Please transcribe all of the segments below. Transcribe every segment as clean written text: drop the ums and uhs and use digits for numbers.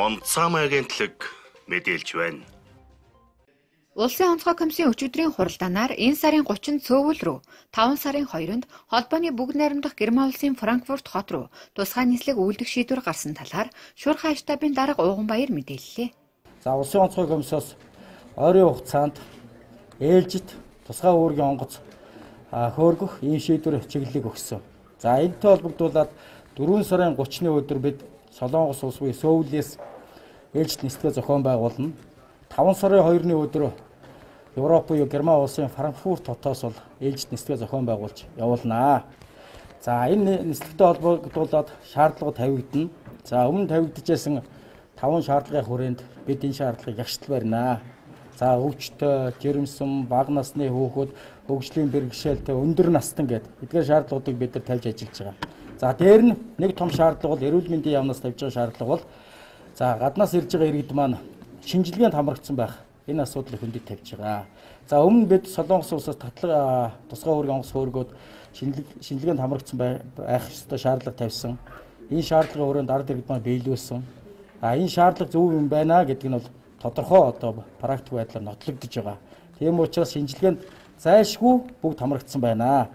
Монцам агентлаг мэдээлж байна. Улсын онцгой комиссийн өчигдрийн хуралдаанаар энэ сарын 30-нд Сөүл рүү, 5 сарын 2-нд холбооны бүгд найрамдах Герман улсын Франкфурт хот руу тусгай нислэг үйлдэх шийдвэр гарсан талаар Шуурхай штабын дарга Ууганбаяр мэдээллээ. За улсын онцгой комиссоос ойрын хугацаанд ээлжид тусгай үүргийн онгоц хөөргөх ийм шийдвэр чиглэлийг өгсөн. За энэтэй холбогдуулаад 4 сарын 30-ны өдөр бид Солонгос улс буюу Сөүлээс ээлжид нислэгээ зохион байгуулна. 5 сарын 2-ны өдөр Европ буюу Герман улсын Франкфурт хотоос бол ээлжид нислэгээ зохион байгуулж явуулнаа. За энэ нислэгтэй холбогдуулаад шаардлага тавигдана. За өмнө тавигдчихсэн 5 шаардлагын хүрээнд бид энэ шаардлагыг ягштал барина. За өвчтөй, жирэмсэн, бага насны хүүхэд, хөгжлийн бэрхшээлтэй, өндөр настан гэдэг эдгээр шаардлагуудыг бид нар тавьж ажиллаж байгаа. За дээр нь нэг том шаардлага бол эрүүл мэндийн яамнаас тавьж байгаа шаардлага бол за гаднаас ирж байгаа иргэд маань шинжилгээнд хамрагдсан байх энэ асуудлыг хөндөд тавьж байгаа. За өмнө бид Солонгос улсаас татлага тусгай үүргийн онгоц хөөргөөд шинжилгээнд хамрагдсан байх ёстой шаардлага тавьсан. Энэ шаардлагын хүрээнд ард иргэд маань биелүүлсэн. Энэ шаардлага зөв юм байна гэдэг нь бол тодорхой одоо практик байдлаар нотлогдож байгаа. Тийм учраас шинжилгээнд зайлшгүй бүгд хамрагдсан байна.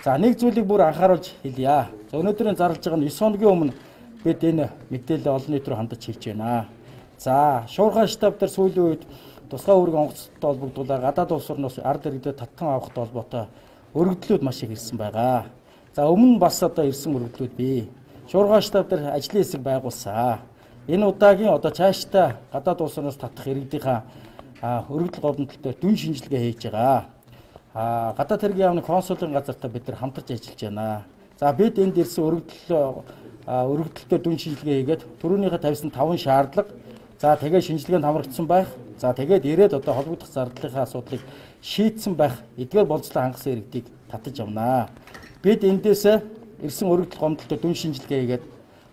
За нэг зүйлийг бүр анхааруулж хэлье. За өнөөдрийн зарлж байгаа нь 9 хоногийн өмнө бид энэ мэдээлэл олон нийт рүү хандаж хэлж байна. За Шуурхай штаб дээр сүүлийн үед тусгай үүргийн онгоцтой холбогдуулаад гадаад улс орноос ард иргэдэд татхан авахтай холбоотой өргөдлүүд маш их ирсэн байгаа. За өмнө бас одоо ирсэн өргөдлүүд бий. Шуурхай штаб дээр ажлын хэсэг байгуулсан. Энэ удаагийн одоо цаашдаа гадаад улс орноос татах иргэдийнхаа өргөдөл гомдолтой дүн шинжилгээ хийж байгаа. Гадаад хэргийн яамны консулын газартаа бид нар хамтарч ажиллаж байна. За бид энд ирсэн өргөдөлтөд дүн шинжилгээ хийгээд түрүүнийхээ тавьсан 5 шаардлага за тэгээд шинжилгээнд хамрагдсан байх. За тэгээд ирээд одоо холбогдох зардлынхаа асуудлыг шийдсэн байх эдгээр болцлоо хангасан иргэдийг татаж авнаа. Бид эндээсээ ирсэн өргөдөл гомдолтой дүн шинжилгээ хийгээд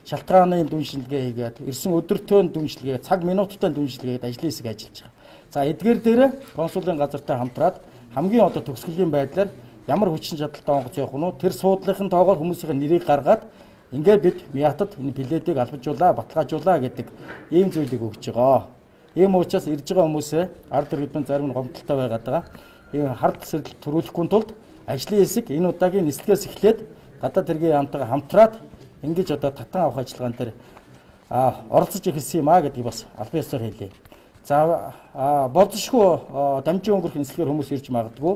шалтгааны дүн шинжилгээ хийгээд ирсэн өдөртөө дүн шинжилгээ, цаг минуттай дүн шинжилгээд ажлын хэсэг ажиллаж байгаа. За эдгээр дээр консулын газартай хамтраад хамгийн одоо төгсгөлийн байдлаар ямар хүчин чадалтай онгоц явах нь тэр суудлынхын тоогоор хүмүүсийн нэрийг гаргаад ингээд бид Мятад энэ билетийг албажуулаа, баталгаажуулаа гэдэг ийм зүйлийг өгч байгаа. Ийм учраас ирж байгаа хүмүүсээ ард иргэдэн зарим нь гомдолтой байгаад байгаа. Ийм хард сэрдэл төрүүлэхгүй тулд ажлын хэсэг энэ удаагийн нислэгээс эхлээд гадаад хэргийн яамтайгаа хамтраад ингэж одоо татан авах ажиллагаан дээр оролцож эхэлсэн юм гэдгийг бас албан ёсоор хэлье. За болзошгүй дамжин өнгөрөх нислэгээр хүмүүс ирж магадгүй.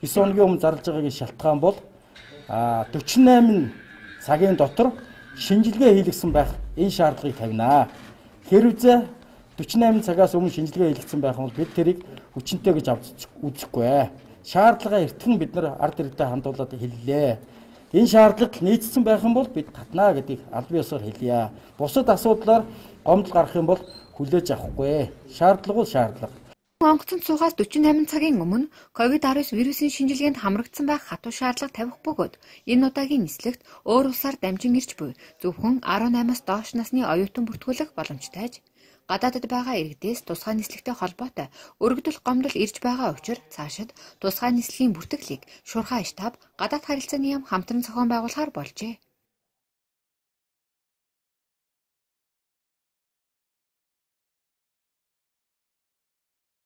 9 хоногийн өмнө зарлж байгаагийн шалтгаан бол 48 цагийн дотор шинжилгээ хийлгсэн байх энэ шаардлагыг тавина. Хэрвээ 48 цагаас өмнө шинжилгээ хийлгсэн байх бол бид тэрийг хүчинтэй гэж авч үзэхгүй. Шаардлагаа эртхэн бид нар ард иргэдэд хандуулаад хэллээ. Энэ шаардлагад нийцсэн байх юм бол бид татнаа гэдгийг албан ёсоор хэлье. Бусад асуудлаар гомдол гарах юм бол хүлээж авахгүй. Шаардлага бол шаардлага. Онгоцонд суухаас 48 цагийн өмнө COVID-19 вирусын шинжилгээнд хамрагдсан байх хатуу шаардлага тавих бөгөөд энэ удаагийн нислэгт өөр улсаар дамжин ирж буй зөвхөн 18-аас доош насны оюутан бүртгүүлэх боломжтойж гадаадд байгаа иргэдээс тусгай нислэгтэй холбоотой өргөдөл гомдол ирж байгаа учраас цаашид тусгай нислэгийн бүртгэлийг Шуурхай штаб гадаад харилцааны яам хамтран зохион байгуулахаар болжээ.